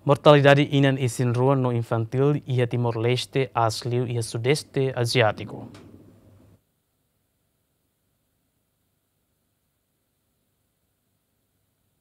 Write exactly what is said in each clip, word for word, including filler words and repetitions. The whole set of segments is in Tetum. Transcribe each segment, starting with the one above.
Mortalidade inan isin-rua no infantíl iha Timor-Leste aas liu iha Sudeste Aziátiku.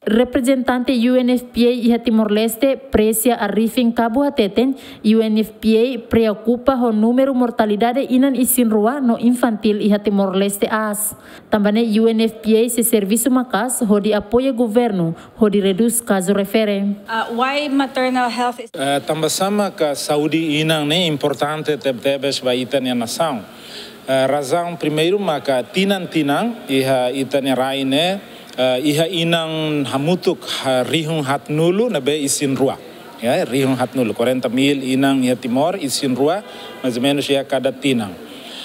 Reprezentante U N F P A iha Timor-Leste, Presia Arifin Cabo hateten, U N F P A preokupa ho númeru mortalidade inan isin-rua no infantíl iha Timor-Leste aas. Tanba ne'e U N F P A sei servisu maka'as hodi apoia governu hodi redús kazu refere. Uh, why maternal health is Eh, tanba sá maka saúde inan ne'e importante tebetebes ba ita-nia nasaun. Eh, razaun primeiru maka tinan-tinan iha ita-nia rai ne'e, eh, iha inan hamutuk, ah, rihun haatnulu ne'ebé isin-rua. Ya, rihun haatnulu, quarenta mil inan iha Timor, isin-rua, mais ou menos iha kada tinan.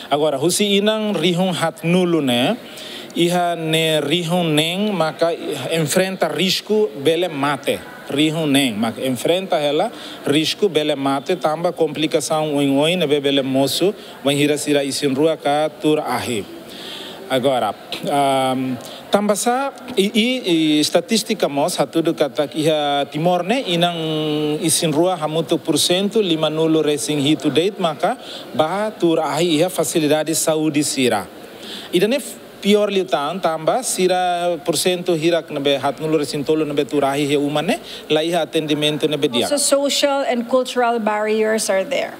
Agora, husi inan rihun haatnulu ne'e, iha ne'e rihun neen maka enfrenta risku bele mate. Rihun neen maka enfrenta hela risku bele mate tanba komplikasaun oioin ne'ebé bele mosu bainhira sira isin-rua ka tuur ahi. Agora, ahm, tanba sá i, i, i estatístika mós hatudu katak iha Timor ne'e inan isin-rua hamutuk pursentu limanulu-resin-hitu de'it maka bá tuur ahi iha fasilidade saúde sira. Ida-ne'e piór liután tanba sira pursentu hirak ne'ebé haatnulu-resin-tolu ne'ebé tuur ahi iha uma ne'e la iha atendimentu ne'ebé di'ak. Also, social and cultural barriers are there.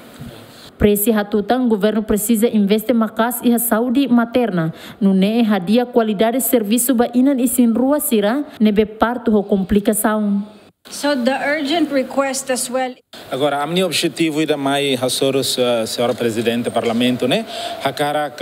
Presia hatutan governu presiza investe maka'as iha saúde materna, nune'e hadi'a kualidade servisu ba inan isin-rua sira ne'ebé partu ho komplikasaun. So the urgent request as well. Agora, ami-nia objetivu ida mai hasoru, eh, Señora Prezidente Parlamentu ne'e, hakarak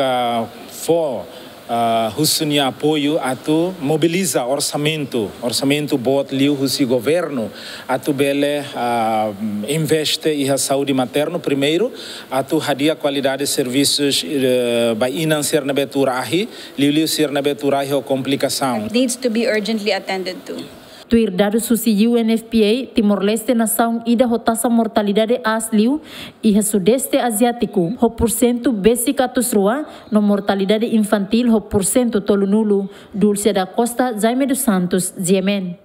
fó, ah, husu nia apoiu atu mobiliza orsamentu, orsamentu boot liu husi governu, atu bele, ah, investe iha saúde maternu primeiru, atu hadi'a kualidade servisus, eh, ba inan sira ne'ebé tuur ahi, liuliu sira ne'ebé tuur ahi ho komplikasaun. Needs to be urgently attended to. Tuir dadus husi U N F P A, Timor-Leste nasaun ida ho taxa mortalidade aas liu iha Sudeste Aziátiku, ho pursentu besik atus rua, no mortalidade infantíl ho pursentu tolunulu. Dulce da Costa, Jaime dos Santos, G M N.